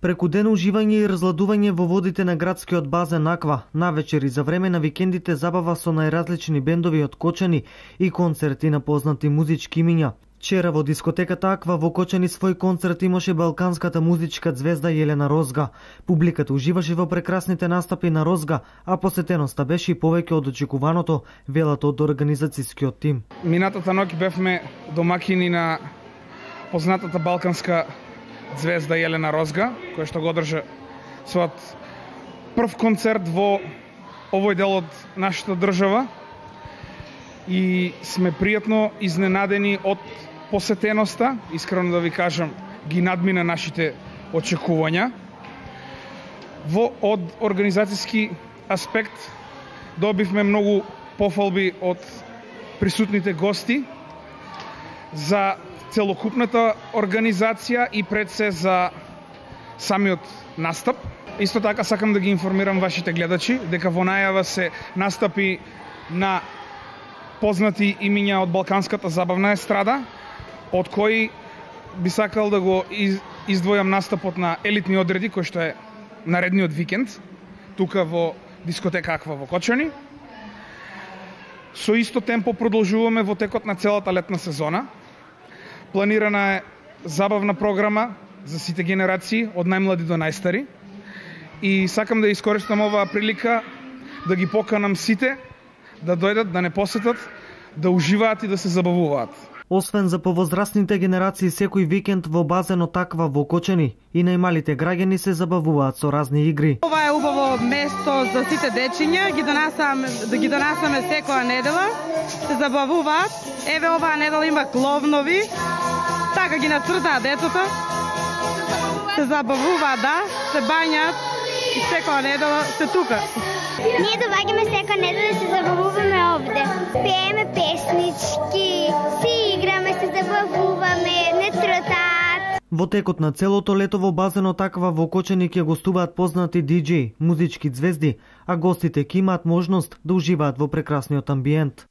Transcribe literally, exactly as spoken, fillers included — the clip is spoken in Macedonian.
Преку ден уживање и разладување во водите на градскиот базен Аква, навечер и за време на викендите забава со најразлични бендови од Кочани и концерти на познати музички имиња. Вчера во дискотеката Аква во Кочани свој концерт имаше балканската музичка ѕвезда Јелена Розга. Публиката уживаше во прекрасните настапи на Розга, а посетеноста беше и повеќе од очекуваното, велат од организацијскиот тим. Минатата ноќ бевме домакини на познатата балканска ѕвезда Јелена Розга, која што го одржа својот прв концерт во овој дел од нашата држава, и сме пријатно изненадени од посетеноста. Искрено да ви кажам, ги надмина нашите очекувања. Во од организацијски аспект добивме многу пофалби од присутните гости за целокупната организација и пред се за самиот настап. Исто така сакам да ги информирам вашите гледачи дека во најава се настапи на познати имиња од балканската забавна естрада, од кои би сакал да го издвојам настапот на Елитни одреди, кој што е наредниот викенд, тука во дискотека Аква во Кочани. Со исто темпо продолжуваме во текот на целата летна сезона. Планирана е забавна програма за сите генерации, од најмлади до најстари. И сакам да искористам оваа прилика да ги поканам сите да дојдат, да не посетат, да уживаат и да се забавуваат. Освен за повозрастните генерации, секој викенд во базенот Аква во Кочани и најмалите граѓани се забавуваат со разни игри. Ова е убаво место за сите дечиња, ги донасаме, да ги донасаме секоја недела, се забавуваат. Еве оваа недела има кловнови, така ги нацртаат децата, се забавуваат, да, се бањаат и секоја недела се тука. Ние доаѓаме секоја недела да се забавуваме овде. Пееме песнички, си играме, се забавуваме, не цртаат. Во текот на целото лето во базенот Аква во Кочани ќе гостуваат познати диџеи, музички ѕвезди, а гостите ќе имаат можност да уживаат во прекрасниот амбиент.